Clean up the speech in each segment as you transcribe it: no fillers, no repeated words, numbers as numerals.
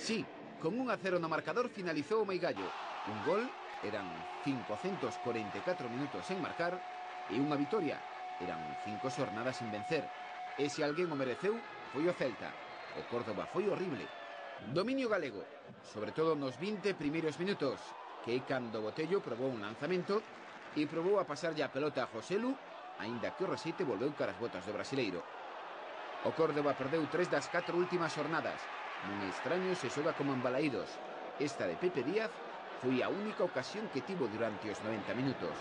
Sí, con 1-0 no marcador finalizou o Meigallo. Un gol, eran 544 minutos sen marcar, e unha vitoria, eran 5 xornadas sin vencer. E se alguén o mereceu, foi o Celta. O Córdoba foi horrible. Dominio galego, sobre todo nos 20 primeiros minutos, que é cando Botello probou un lanzamento e probou a pasarlle a pelota a Joselu, aínda que o resete volveu caras botas do brasileiro. O Córdoba perdeu 3 das 4 últimas jornadas. Nun extraño se xoga como embalaídos. Esta de Pepe Díaz foi a única ocasión que tivo durante os 90 minutos.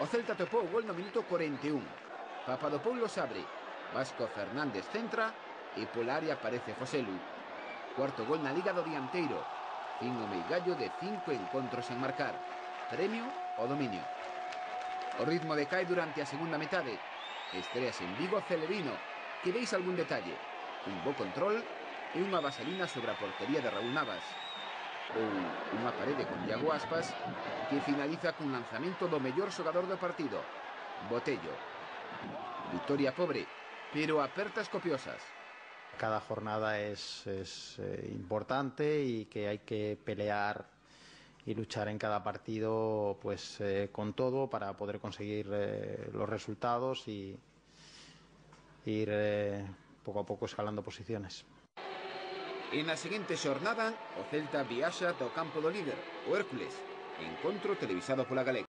O Celta topou o gol no minuto 41. Papadopoulos abre, Vasco Fernández centra e pola área aparece Joselu. Cuarto gol na Liga do dianteiro. Fin o Meigallo de 5 encontros en marcar. Premio o dominio. O ritmo decae durante a segunda metade. Estreas en Vigo Celerino, que veis algún detalle. Un bo control e unha vaselina sobre a portería de Raúl Navas. Ou unha parede con Iago Aspas que finaliza cun lanzamento do mellor xogador do partido, Botello. Victoria pobre, pero apertas copiosas. Cada jornada es importante y que hay que pelear y luchar en cada partido pues con todo para poder conseguir los resultados y ir poco a poco escalando posiciones. En la seguinte xornada, o Celta viaxa ata o campo do líder, o Hércules, encontro televisado pola Galega.